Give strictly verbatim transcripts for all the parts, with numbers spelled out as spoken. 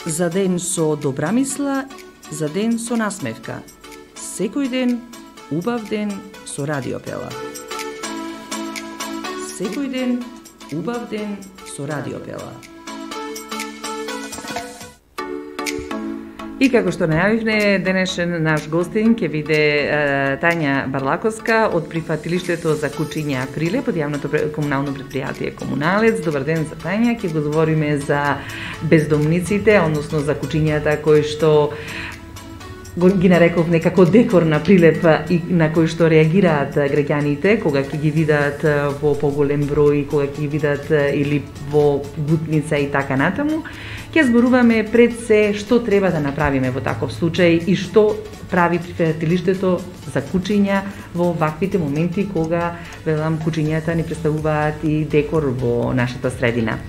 За ден со добра мисла, за ден со насмевка. Секој ден, убав ден со Радиопела. Секој ден, убав ден со Радиопела. И како што најавивме, денешен наш гостин ќе биде е, Тања Барлаковска од прифатилиштето за кучиња Прилеп од јавното комунално предпријатие Комуналец. Добар ден за Тања, ќе го говориме за бездомниците, односно за кучињата кои што ги нареков некако декор на Прилеп и на кои што реагираат граѓаните кога ќе ги видат во поголем број, кога ќе ги видат или во Гутница и така натаму. Ќе зборуваме пред се што треба да направиме во таков случај и што прави прифатилиштето за кучиња во ваквите моменти кога, велам, кучињата ни представуваат и декор во нашата средина.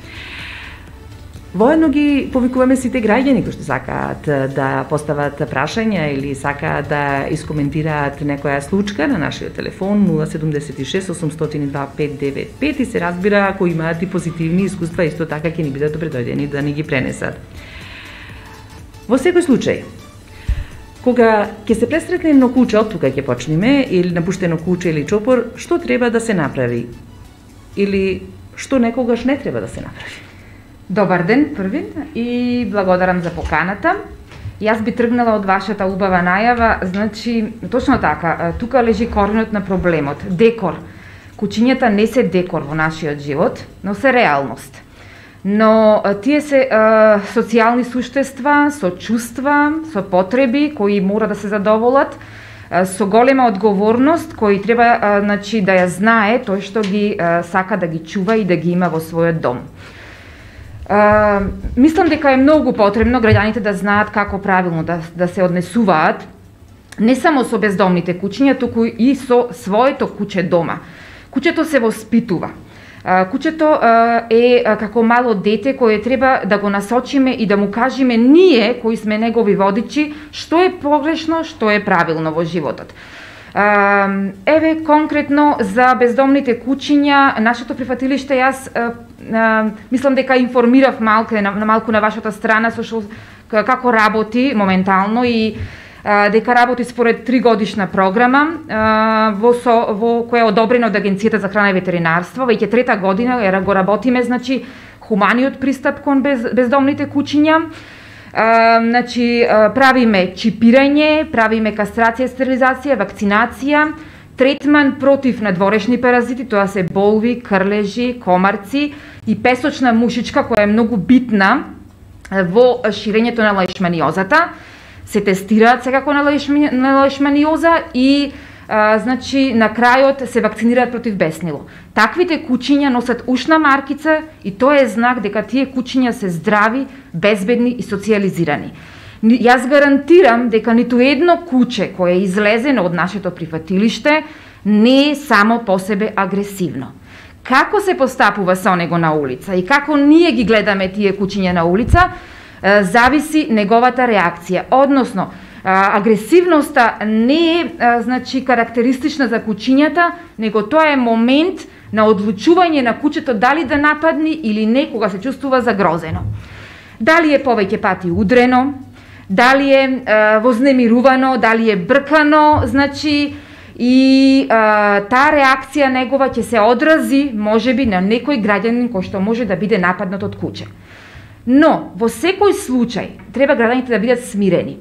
Воедно ги повикуваме сите граѓани кои што сакаат да постават прашања или сакаат да искоментираат некоја случка на нашиот телефон нула седум шест осумстотини и два пет девет пет и се разбира ако имаат и позитивни искуства исто така ќе ни бидат добредојдени да ни ги пренесат. Во секој случај, кога ќе се пресретне едно куче, од тука ќе почнеме, или напуштено куче или чопор, што треба да се направи? Или што некогаш не треба да се направи? Добар ден, првин, и благодарам за поканата. Јас би тргнала од вашата убава најава, значи, точно така, тука лежи коренот на проблемот. Декор. Кучињата не се декор во нашиот живот, но се реалност. Но тие се е, социјални суштества, со чувства, со потреби, кои мора да се задоволат, е, со голема одговорност, кои треба е, значи, да ја знае тој што ги е, сака да ги чува и да ги има во својот дом. Uh, мислам дека е многу потребно граѓаните да знаат како правилно да, да се однесуваат не само со бездомните кучиња, туку и со своето куче дома. Кучето се воспитува. Uh, кучето uh, е uh, како мало дете кое треба да го насочиме и да му кажеме ние, кои сме негови водичи, што е погрешно, што е правилно во животот. Uh, еве конкретно за бездомните кучиња, нашето прифатилиште, јас uh, uh, мислам дека информирав малку на, на малку на вашата страна со шо, како работи моментално и uh, дека работи според тригодишна програма uh, во, со, во која е одобрена од Агенцијата за храна и ветеринарство. Веќе трета година го работиме, значи, хуманиот пристап кон без, бездомните кучиња. Uh, значи, uh, правиме чипирање, правиме кастрација, стерилизација, вакцинација, третман против надворешни паразити, тоа се болви, крлежи, комарци и песочна мушичка која е многу битна во ширењето на лаишманиозата. Се тестираат секако на, лаишми, на лаишманиоза и а, значи на крајот се вакцинираат против беснило. Таквите кучиња носат ушна маркица и тоа е знак дека тие кучиња се здрави, безбедни и социјализирани. Јас гарантирам дека ниту едно куче кое е излезено од нашето прифатилиште не е само по себе агресивно. Како се постапува со него на улица и како ние ги гледаме тие кучиња на улица, зависи неговата реакција. Односно, агресивноста не е значи карактеристична за кучињата, него тоа е момент на одлучување на кучето дали да нападне или не кога се чувствува загрозено. Дали е повеќе пати удрено, дали е, е вознемирувано, дали е бркано, значи и е, таа реакција негова ќе се одрази можеби на некој граѓанин кој што може да биде нападнат од куче. Но во секој случај треба граѓаните да бидат смирени.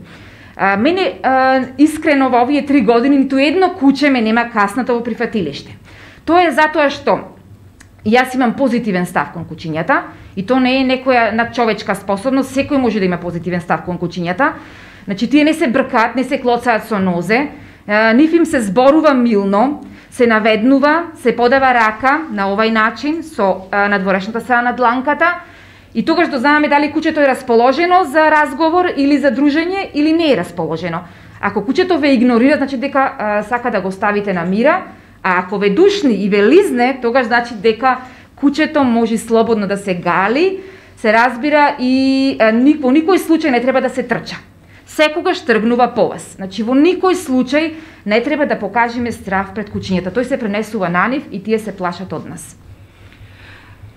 А, мене а, искрено во овие три години ниту едно куче ме нема каснато во прифатилиште. Тоа е затоа што јас имам позитивен став кон кучињата и тоа не е некоја надчовечка способност, секој може да има позитивен став кон кучињата. Значи тие не се бркаат, не се клоцаат со нозе, нив им се зборува милно, се наведнува, се подава рака на овај начин со а, надворешната страна на дланката. И тогаш дознаваме дали кучето е расположено за разговор или за дружење или не е расположено. Ако кучето ве игнорира, значи дека а, сака да го ставите на мира, а ако ве душни и ве лизне, тогаш значи дека кучето може слободно да се гали, се разбира и а, ни, во никој случај не треба да се трча. Секогаш тргнува по вас. Значи во никој случај не треба да покажеме страв пред кучињата. Тој се пренесува на нив и тие се плашат од нас.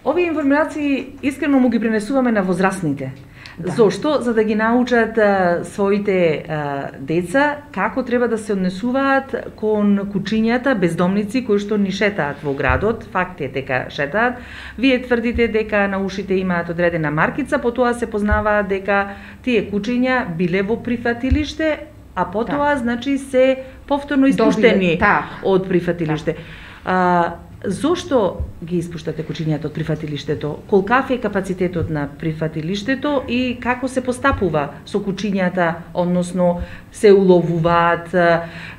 Овие информации искрено му ги пренесуваме на возрастните. Да. Зошто? За да ги научат а, своите а, деца како треба да се однесуваат кон кучињата бездомници кои што ни шетаат во градот. Факт е дека шетаат. Вие тврдите дека на ушите имаат одредена маркица, потоа се познава дека тие кучиња биле во прифатилиште, а потоа да. Значи се повторно испуштени да. Од прифатилиште. Да. Зошто ги испуштате кучињата од прифатилиштето? Колкав е капацитетот на прифатилиштето и како се постапува со кучињата, односно се уловуваат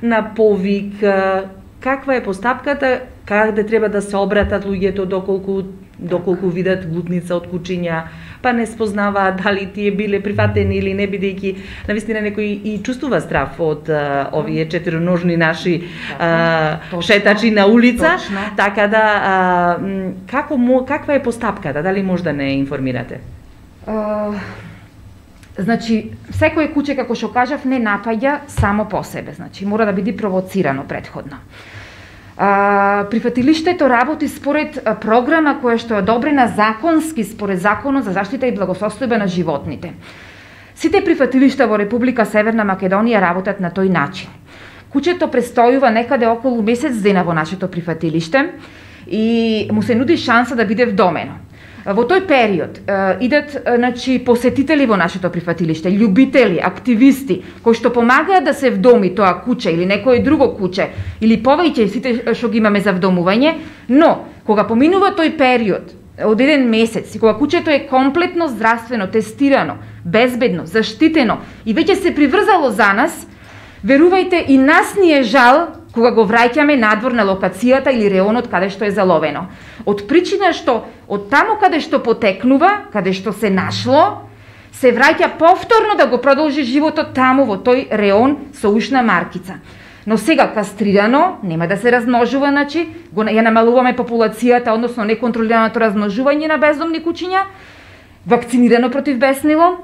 на повик, каква е постапката, каде треба да се обратат луѓето доколку доколку видат глутница од кучиња, па не спознаваат дали тие биле прифатени или не, бидејќи навистина некој и чувствува страф од а, овие четироножни наши а, точно, шетачи на улица, точно. Така да а, како каква е постапката, дали може да не информирате? Uh... Значи, секој куче, како што кажав, не напаѓа само по себе, значи мора да биде провоцирано претходно. А, прифатилиштето работи според програма која што е одобрена законски според Законот за заштита и благосостојба на животните. Сите прифатилишта во Република Северна Македонија работат на тој начин. Кучето престојува некаде околу месец дена во нашето прифатилиште и му се нуди шанса да биде вдомено. Во тој период е, идат значи посетители во нашето прифатилиште, љубители, активисти кои што помагаат да се вдоми тоа куче или некое друго куче или повеќе сите што ги имаме за вдомување, но кога поминува тој период од еден месец и кога кучето е комплетно здравствено тестирано, безбедно, заштитено и веќе се приврзало за нас, верувајте и нас ни е жал кога го враќаме надвор на локацијата или реонот каде што е заловено. Од причина што од таму каде што потекнува, каде што се нашло, се враќа повторно да го продолжи животот таму во тој реон со ушна маркица. Но сега кастрирано, нема да се размножува, значи, го ја намалуваме популацијата, односно неконтролираното размножување на бездомни кучиња, вакцинирано против беснило,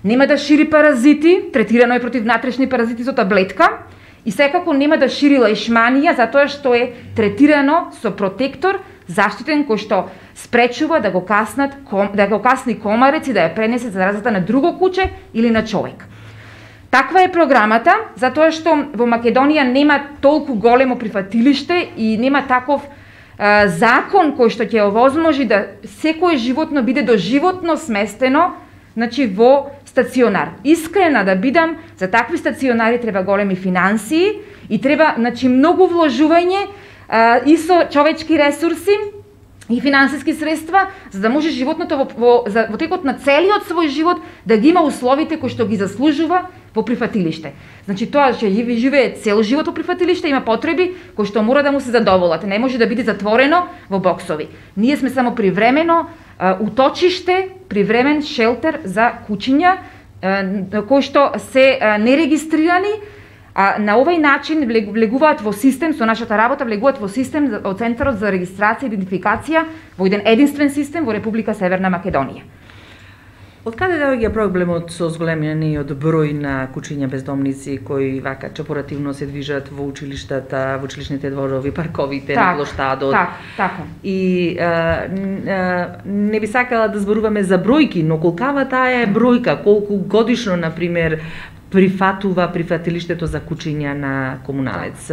нема да шири паразити, третирано е против внатрешни паразити со таблетка, и секако нема да шири лешманија затоа што е третирано со протектор заштитен кој што спречува да го каснат да го касни комарец и да ја пренесе заразата на друго куче или на човек. Таква е програмата затоа што во Македонија нема толку големо прифатилиште и нема таков а, закон кој што ќе овозможи да секое животно биде доживотно сместено, значи во стационар. Искрена да бидам, за такви стационари треба големи финансии и треба значи многу вложување а, и со човечки ресурси и финансиски средства за да може животното во, во, за, во текот на целиот свој живот да ги има условите кои што ги заслужува во прифатилиште. Значи тоа ќе живее цел живот во прифатилиште, има потреби кои што мора да му се задоволат. Не може да биде затворено во боксови. Ние сме само привремено а, уточиште, привремен шелтер за кучиња а, кои што се а, нерегистрирани, а на овој начин влегуваат во систем, со нашата работа влегуваат во систем од Центарот за регистрација и идентификација во еден единствен систем во Република Северна Македонија. Од каде доаѓа проблемот со зголемениот број на кучиња бездомници кои вака чепоративно се движат во училиштата, во училишните дворови, парковите, так, на плоштадот? Так, така. И а, а, не би сакала да зборуваме за бројки, но колкава таа е бројка, колку годишно, например, прифатува прифатилиштето за кучиња на комуналец?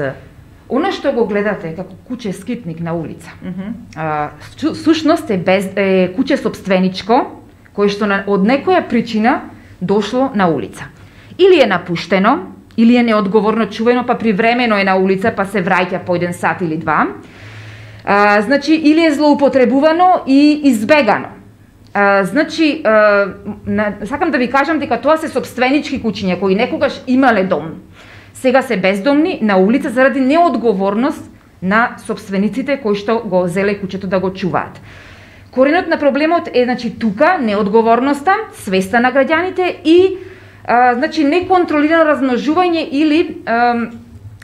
Она што го гледате како куче скитник на улица, uh -huh. а, сушност е, без, е куче собственичко, кој што на, од некоја причина дошло на улица. Или е напуштено, или е неодговорно чувено, па привремено е на улица, па се враќа по еден сат или два. А, значи, или е злоупотребувано и избегано. А, значи, а, на, сакам да ви кажам дека тоа се собственички кучиња кои некогаш имале дом. Сега се бездомни на улица заради неодговорност на собствениците кои што го зеле кучето да го чуваат. Коренот на проблемот е значи тука неодговорноста, свеста на граѓаните и а, значи неконтролирано размножување или а,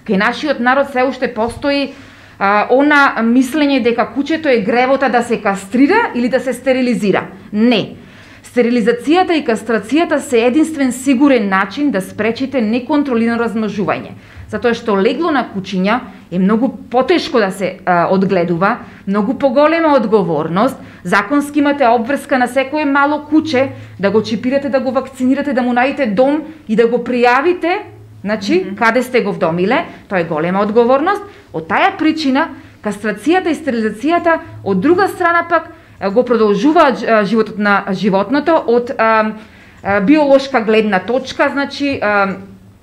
кај нашиот народ се уште постои а, она мислење дека кучето е гревота да се кастрира или да се стерилизира. Не. Стерилизацијата и кастрацијата се единствен сигурен начин да спречите неконтролирано размножување. затоа што легло на кучиња е многу потешко да се а, одгледува, многу поголема одговорност. Законски имате обврска на секое мало куче да го чипирате, да го вакцинирате, да му најдете дом и да го пријавите, значи, mm -hmm. каде сте го вдомиле, тоа е голема одговорност. Од таа причина, кастрацијата и стерилизацијата, од друга страна пак, го продолжуваат животот на животното од а, а, биолошка гледна точка, значи, а,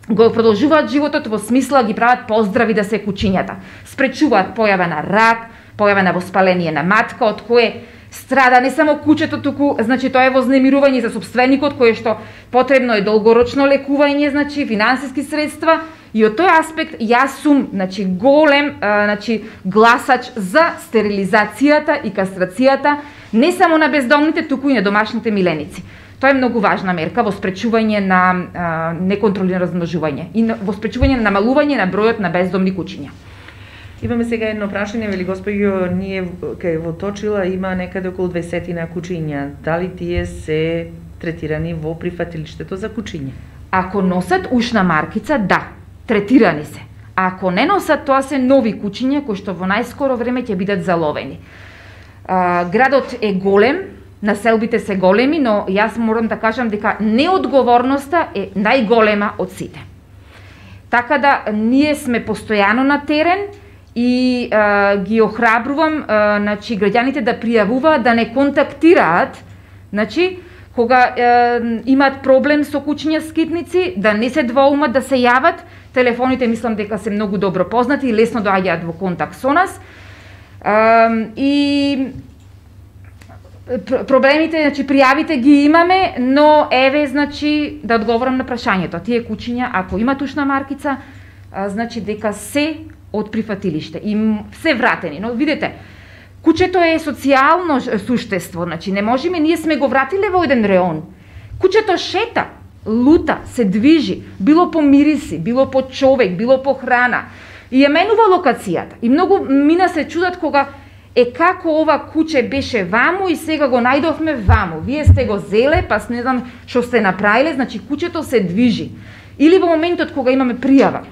го продолжуваат животот во смисла ги прават поздрави да се кучињата. Спречуваат појава на рак, појава на воспаление на матка, од кое страда не само кучето, туку, значи тоа е вознемирување за сопственикот, кое што потребно е долгорочно лекување, значи финансиски средства, и од тој аспект јас сум, значи, голем, а, значи, гласач за стерилизацијата и кастрацијата не само на бездомните, туку и на домашните миленици. Тоа е многу важна мерка во спречување на а, неконтролирано размножување и во спречување на намалување на бројот на бездомни кучиња. Имаме сега едно прашање, вели господјо, ние кај во Точила има некаде околу дваесет кучиња. Дали тие се третирани во прифатилиштето за кучиња? Ако носат ушна маркица, да, третирани се. А ако не носат, тоа се нови кучиња кои што во најскоро време ќе бидат заловени. А, градот е голем, населбите се големи, но јас морам да кажам дека неодговорноста е најголема од сите. Така да ние сме постојано на терен и а, ги охрабрувам а, значи, граѓаните да пријавуваат, да не контактираат, значи, кога а, имаат проблем со кучиња скитници, да не се двоумат, да се јават. Телефоните мислам дека се многу добро познати и лесно доаѓаат во контакт со нас. А, и проблемите, значи пријавите ги имаме, но еве, значи, да одговорам на прашањето. Тие кучиња, ако имат ушна маркица, а, значи дека се од прифатилиште и се вратени. Но видете, кучето е социјално суштество, значи не можеме, ние сме го вратиле во еден реон. Кучето шета, лута, се движи, било по мириси, било по човек, било по храна. И ја менува локацијата. И многу мина се чудат кога е како ова куче беше ваму и сега го најдовме ваму. Вие сте го зеле, па не знам што сте направиле, значи кучето се движи. Или во моментот кога имаме пријава,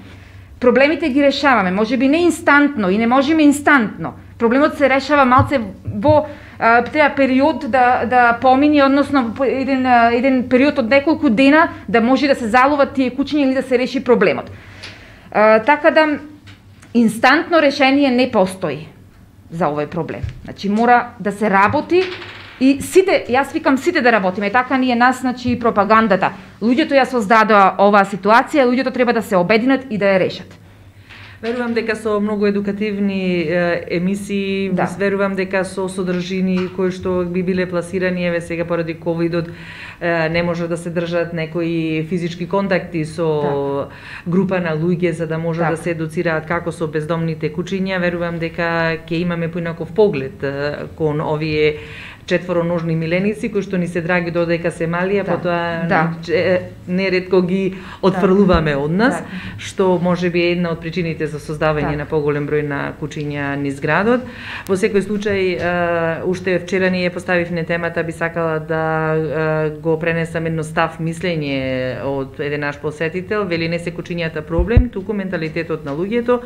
проблемите ги решаваме, можеби не инстантно и не можеме инстантно. Проблемот се решава малце во треба период да да помине, односно еден еден период од неколку дена да може да се заловат тие кучиња или да се реши проблемот. А, така да инстантно решение не постои за овој проблем. Значи мора да се работи и сите, јас викам сите да работиме, така ние нас, значи пропагандата. Луѓето ја создадоа оваа ситуација, луѓето треба да се обединат и да ја решат. Верувам дека со многу едукативни е, емисии, да. Верувам дека со содржини кои што би биле пласирани, еве сега поради ковидот е, не може да се држат некои физички контакти со так. група на луѓе за да може так. да се едуцираат како со бездомните кучиња. Верувам дека ќе имаме поинаков поглед е, кон овие четвороножни миленици кои што ни се драги додека се мали, а да. потоа да. неретко ги отфрлуваме да. од нас, да. што можеби е една од причините за создавање да. на поголем број на кучиња низ градот. Во секој случај, uh, уште вчера ние поставивме темата, би сакала да uh, го пренесам едно став мислење од еден наш посетител, вели не се кучињата проблем, туку менталитетот на луѓето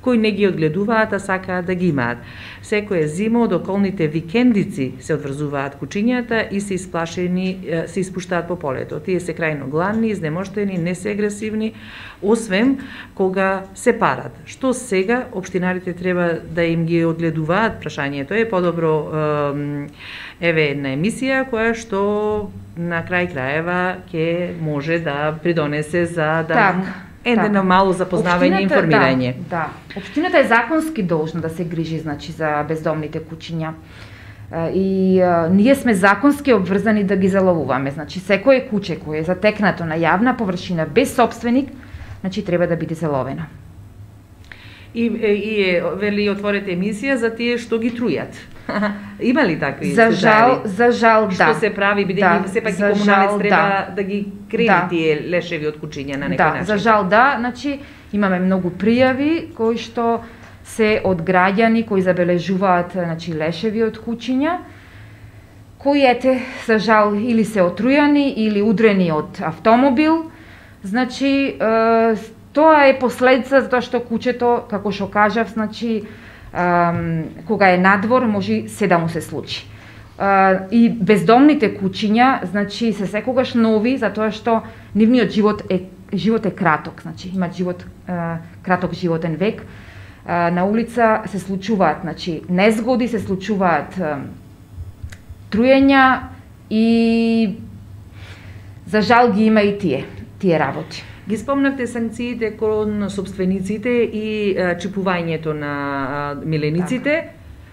кои не ги одгледуваат, а сакаат да ги имаат. Секоја зима од околните викендици се одврзуваат кучињата и се исплашени, се испуштаат по полето. Тие се крајно гладни, изнемоштени, не се агресивни, освен кога се парат. Што сега општинарите треба да им ги одгледуваат? Прашањето е подобро еве една емисија која што на крај крајева ќе може да придонесе за да так. едно мало запознавање и информирање. Да, да. Општината е законски должна да се грижи, значи, за бездомните кучиња. И а, ние сме законски обврзани да ги заловуваме. Значи, секое куче кое е затекнато на јавна површина без собственик, значи треба да биде заловено. И, и е, вели, отворете емисија за тие што ги трујат. Има ли такви за жал, за жал, да. Што се прави, бидејќи да, сепак и комуналец треба да, да ги крени да. тие лешеви од кучиња на некој да, начин? За жал, да. Значи, имаме многу пријави кои што се од граѓани кои забележуваат, значи, лешеви од кучиња, кои ете, за жал, или се отрујани, или удрени од автомобил. Значи, е, тоа е последица затоа што кучето, како што кажав, значи кога е надвор може се да му се случи. И бездомните кучиња, значи се секогаш нови затоа што нивниот живот е живот е краток, значи имаат живот краток животен век. На улица се случуваат, значи незгоди, се случуваат труења и за жал ги има и тие тие работи. Ги спомнавте санкциите кон собствениците и чипувањето на милениците. Так.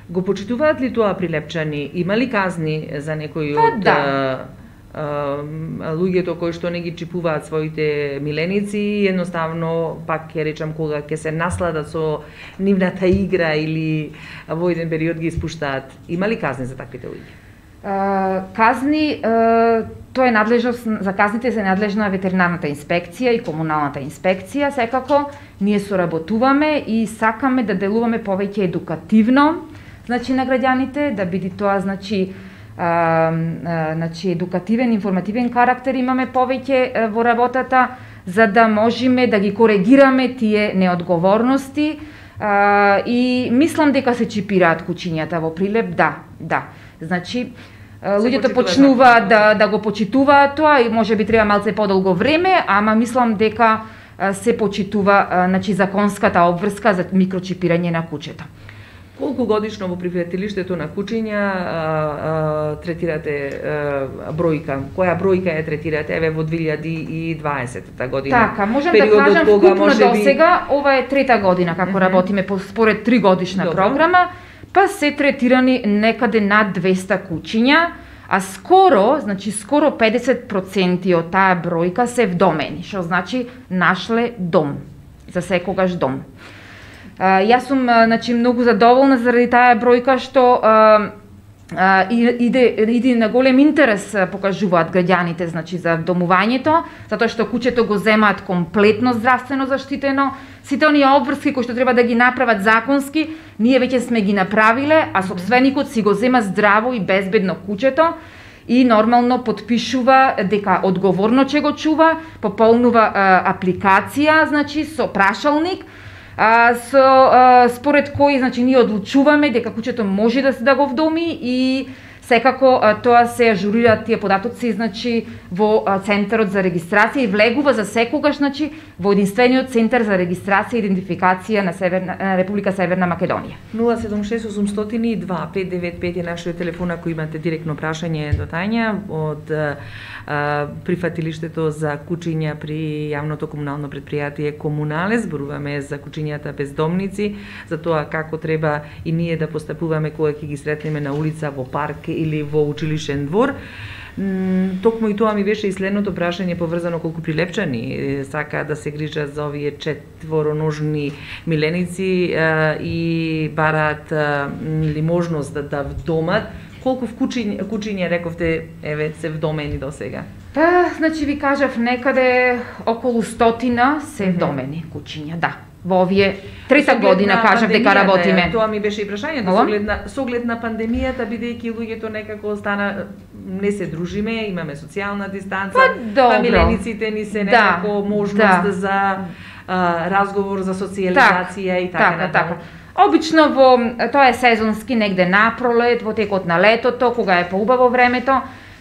Го почитуваат ли тоа прилепчани? Има ли казни за некои па, од да. а, а, луѓето кои што не ги чипуваат своите миленици и едноставно, пак ќе речам, кога ќе се насладат со нивната игра или во еден период ги испуштаат? Има ли казни за таквите луѓе? Uh, казни, uh, тоа е надлежност, за казните се надлежна ветеринарната инспекција и комуналната инспекција. Секако, ние соработуваме и сакаме да делуваме повеќе едукативно, значи на граѓаните, да биде тоа, значи, uh, uh, значи едукативен, информативен карактер имаме повеќе uh, во работата, за да можеме да ги коригираме тие неодговорности. Uh, и мислам дека се чипираат кучињата во Прилеп, да, да. Значи, луѓето почнуваат да, да го почитуваат тоа и може би треба малце подолго време, ама мислам дека се почитува, значи, законската обврска за микрочипирање на кучета. Колку годишно во прифатилиштето на кучиња а, а, третирате а, бројка? Која бројка ја третирате еве во две илјади и дваесетта година? Така, можам да кажам вкупно до сега, ова е трета година како uh -huh. работиме по според три годишна Добро. програма. Па се третирани некаде над двеста кучиња, а скоро, значи скоро педесет проценти од таа бројка се вдомени, што значи нашле дом, за секогаш дом. А, јас сум, значи, многу задоволна заради таа бројка што а, а, иде, иде на голем интерес покажуваат граѓаните, значи, за вдомувањето, затоа што кучето го земаат комплетно здравствено заштитено. Сите оние обврски кои што треба да ги направат законски, ние веќе сме ги направиле, а собственикот си го зема здраво и безбедно кучето и нормално подпишува дека одговорно ќе го чува, пополнува а, апликација, значи со прашалник, а, со а, според кој, значи, ние одлучуваме дека кучето може да се да го вдоми и секако тоа се ажурираат тие податоци, значи, во центарот за регистрација и влегува за секогаш, значи, во единствениот центар за регистрација и идентификација на Северна на Република Северна Македонија. нула седум шест осумстотини и два пет девет пет е нашиот телефон ако имате директно прашање до Тања од а, прифатилиштето за кучиња при јавното комунално претпријатие Комунале. Зборуваме за кучињата бездомници, за тоа како треба и ние да постапуваме кога ќе ги сретнеме на улица, во парк или во училишен двор. Токму и тоа ми беше и следното прашање поврзано колку прилепчани сака да се грижат за овие четвороножни миленици а, и бараат а, ли можност да, да вдомат. Колку кучиња, кучиња рековте, еве, се вдомени до сега? Па, значи ви кажав, некаде околу стотина се вдомени кучиња, да. Во овие трета година кажав дека работиме. Тоа ми беше и прашањето, со оглед на со оглед на пандемијата, бидејќи луѓето некако остана, не се дружиме, имаме социјална дистанца, па милениците ни се некако да, можност да. за а, разговор, за социјализација так, и така така, така. Обично во тоа е сезонски, негде напролет, во текот на летото, кога е поубаво времето,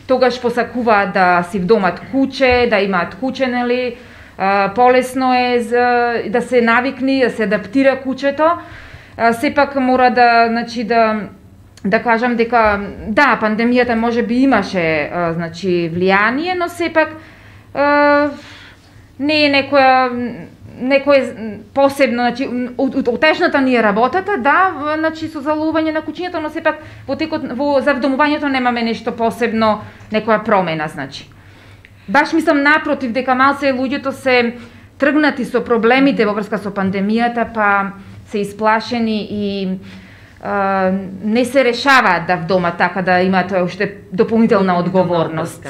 тогаш посакуваат да си вдомат куче, да имаат куче, нели? Uh, полесно е за, да се навикни, да се адаптира кучето. Uh, сепак мора да, значи, да, да кажам дека да, пандемијата може би имаше uh, значи, влијание, но сепак uh, не е некоја некој посебно, значи, утешната ни е работата, да, значи, со залување на кучињето, но сепак во текот во за вдомувањето немаме нешто посебно, некоја промена, значи. Баш мислам напротив дека малце луѓето се тргнати со проблемите во врска со пандемијата, па се исплашени и а, не се решаваат да вдома така да имаат уште дополнителна одговорност.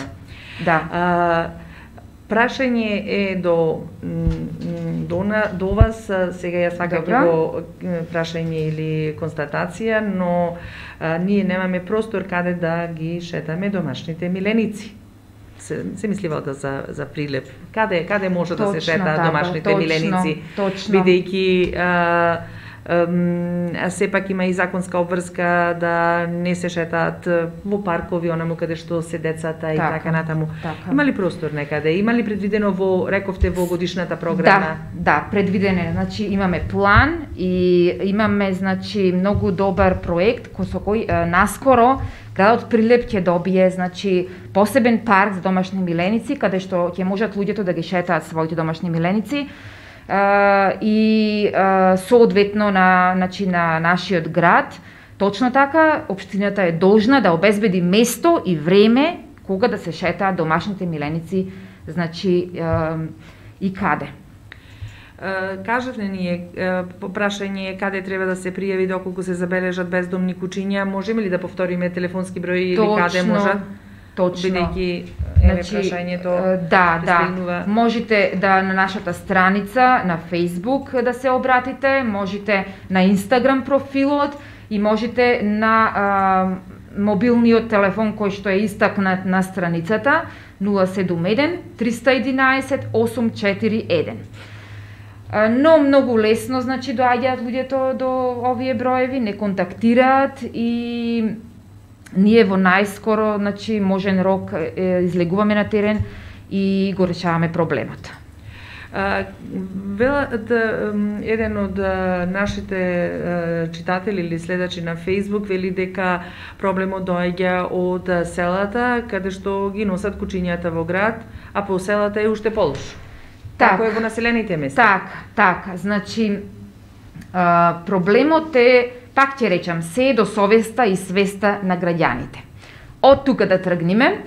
Да. А, прашање е до до, на, до вас, сега ја свакако прашање или констатација, но а, ние немаме простор каде да ги шетаме домашните миленици. се, се мисливалка за за Прилеп. Каде каде може Точно, да се шета така, домашните точно, миленици? Точно. Бидејќи а, а сепак има и законска обврска да не се шетаат во паркови, онаму каде што се децата и така, така натаму. Така. Има ли простор некаде? Има ли предвидено во, рековте, во годишната програма? Да, да, предвидено е. Значи имаме план и имаме значи многу добар проект кој со кој е, наскоро градот Прилеп ќе добие значи посебен парк за домашни миленици каде што ќе можат луѓето да ги шетаат своите домашни миленици. Uh, и uh, соодветно на, значи, на нашиот град, точно така, општината е должна да обезбеди место и време кога да се шетаат домашните миленици, значи uh, и каде. Uh, кажете ни, uh, прашање каде треба да се пријави доколку се забележат бездомни кучиња, можеме ли да повториме телефонски број или Точно. каде можат? Точно. Бидејќи еве прашањето да, пристигнува. Да, можете да на нашата страница на Facebook да се обратите, можете на Instagram профилот и можете на а, мобилниот телефон кој што е истакнат на страницата нула седум еден триста и единаесет осум четири еден. Но многу лесно значи доаѓаат луѓето до овие броеви, не контактираат и ние во најскоро, значи, можен рок е, излегуваме на терен и го решаваме проблемот. А, велат, еден од нашите читатели или следачи на Facebook вели дека проблемот доаѓа од селата, каде што ги носат кучињата во град, а по селата е уште полош. Так, Како е во населените места? Така, така. Значи, а, проблемот е, пак ќе речам, се е до совеста и свеста на граѓаните. Од тука да тргнеме,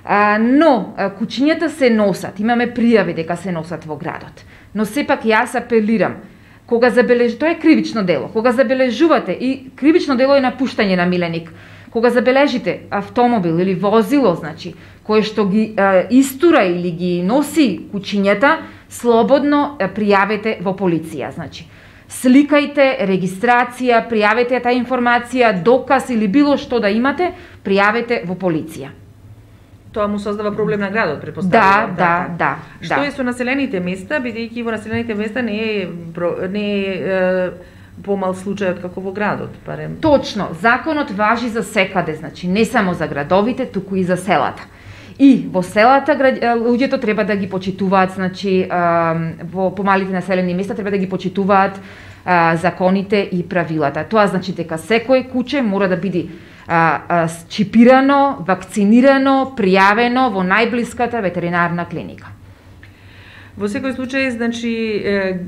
а, но а, кучињата се носат, имаме пријави дека се носат во градот. Но сепак јас апелирам, кога забележ... тоа е кривично дело, кога забележувате, и кривично дело е напуштање на миленик, кога забележите автомобил или возило, значи, кое што ги а, истура или ги носи кучињата, слободно а, пријавете во полиција, значи. Сликајте, регистрација, пријавете таа информација, доказ или било што да имате, пријавете во полиција. Тоа му создава проблем на градот, претпоставувам. Да, да, да. Што да. е со населените места, бидејќи во населените места не е не е, е помал случајот како во градот, барем. Точно, законот важи за секаде, значи не само за градовите, туку и за селата. И во селата луѓето треба да ги почитуваат, значи во помалите населени места треба да ги почитуваат законите и правилата. Тоа значи дека секој куче мора да биде чипирано, вакцинирано, пријавено во најблиската ветеринарна клиника. Во секој случај, значи,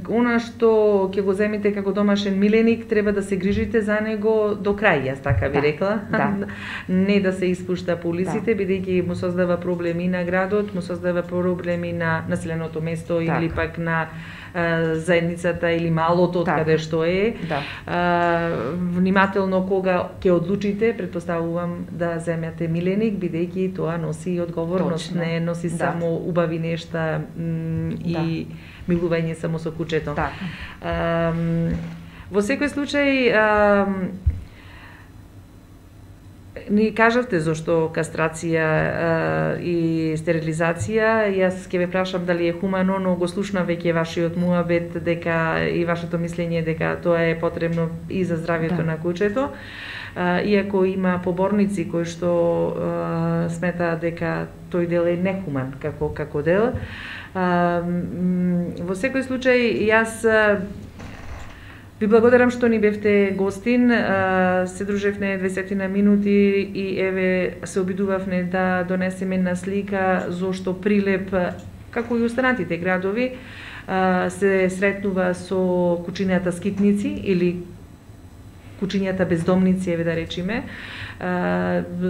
она што ќе го земите како домашен миленик, треба да се грижите за него до крај, јас така би да, рекла. Да. Не да се испушта по улиците, да. Бидејќи му создава проблеми на градот, му создава проблеми на населеното место так. Или пак на а, заедницата или малото од каде што е. Да. А, внимателно кога ќе одлучите, претпоставувам да земете миленик, бидејќи тоа носи одговорност, точно. Не носи да. Само убави нешта и да. Милување само со кучето. Да. А, во секој случај а, ни кажавте зошто кастрација а, и стерилизација. Јас ќе ве прашам дали е хумано, но го слушнав веќе вашиот муабет дека и вашето мислење дека тоа е потребно и за здравјето да. На кучето. А, иако има поборници кои што а, сметаат дека тој дел е нехуман како како дел. А, во секој случај јас ви благодарам што ни бевте гостин, се дружевне дваесет минути и еве се обидувавме да донесеме на слика зошто Прилеп, како и останатите градови, се сретнува со кучињата скитници или кучињата бездомници, еве да речеме,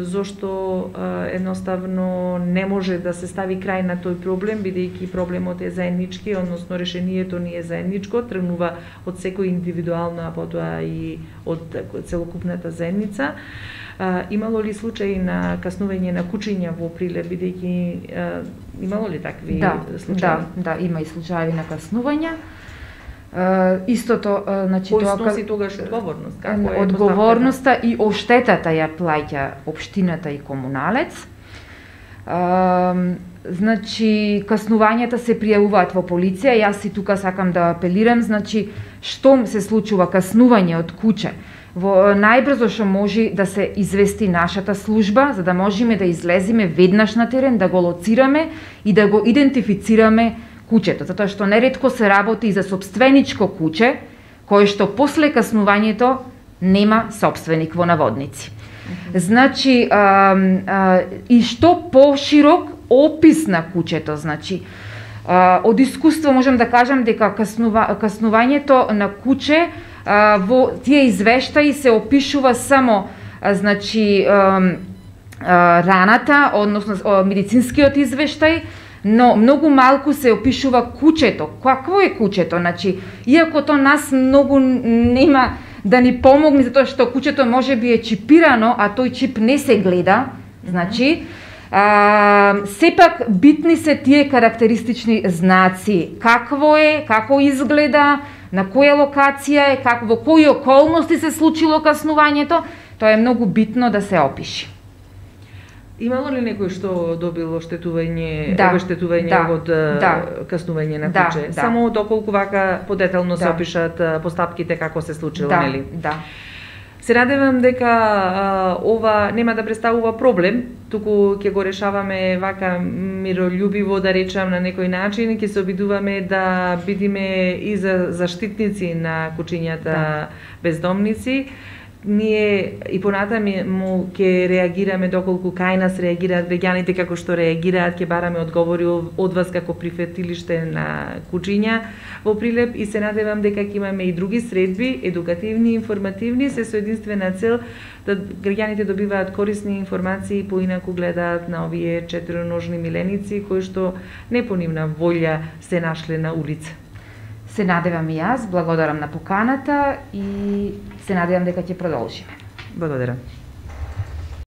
зошто едноставно не може да се стави крај на тој проблем, бидејќи проблемот е заеднички, односно решението не е заедничко, тргнува од секој индивидуално, а потоа и од целокупната заедница. Имало ли случаи на каснување на кучиња во Прилеп, бидејќи имало ли такви да, случаи? Да, да, има и случаи на каснувања. Uh, истото, uh, значи кој тоа сноси тогаш одговорност? Како е одговорноста и оштетата ја плаќа општината и комуналец. Значи, каснувањата се пријавуваат во полиција. Јас и тука сакам да апелирам, значи, што се случува каснување од куќе, во најбрзо што може да се извести нашата служба, за да можеме да излеземе веднаш на терен, да го лоцираме и да го идентифицираме куќето, затоа што неретко се работи и за сопственичко куќе, кое што после каснувањето нема сопственик во наводници. Значи, а, а, и што поширок опис на куќето, значи, а, од искуство можам да кажам дека каснува, каснувањето на куќе а, во тие извештаи се опишува само а, значи, а, а, раната, односно а, медицинскиот извештај, но многу малку се опишува куќето. Какво е куќето? Значи, иако то нас многу нема да ни помогне, затоа што куќето може би е чипирано, а тој чип не се гледа, значи, а, сепак битни се тие карактеристични знаци. Какво е, како изгледа, на која локација е, как, во кои околности се случило каснувањето, тоа е многу битно да се опиши. Имало ли некој што добил оштетување, да, обештетување да, од да, каснување на да, куќе? Да. Само доколку вака подетелно да. се опишат постапките како се случило, да, нели? Да. Се надевам дека а, ова нема да представува проблем, туку ќе го решаваме вака миролюбиво, да речам, на некој начин, ќе се обидуваме да бидиме и за заштитници на кучињата да. бездомници. Ние и понатаму ќе реагираме доколку кај нас реагираат граѓаните како што реагираат, ќе бараме одговори од вас како прифатилиште на кучиња во Прилеп и се надевам дека ќе имаме и други средби, едукативни, информативни, се со единствена цел да граѓаните добиваат корисни информации и поинаку гледаат на овие четироножни миленици кои што не по нивна волја се нашле на улица. Се надевам и јас, благодарам на поканата и се надевам дека ќе продолжиме. Благодарам.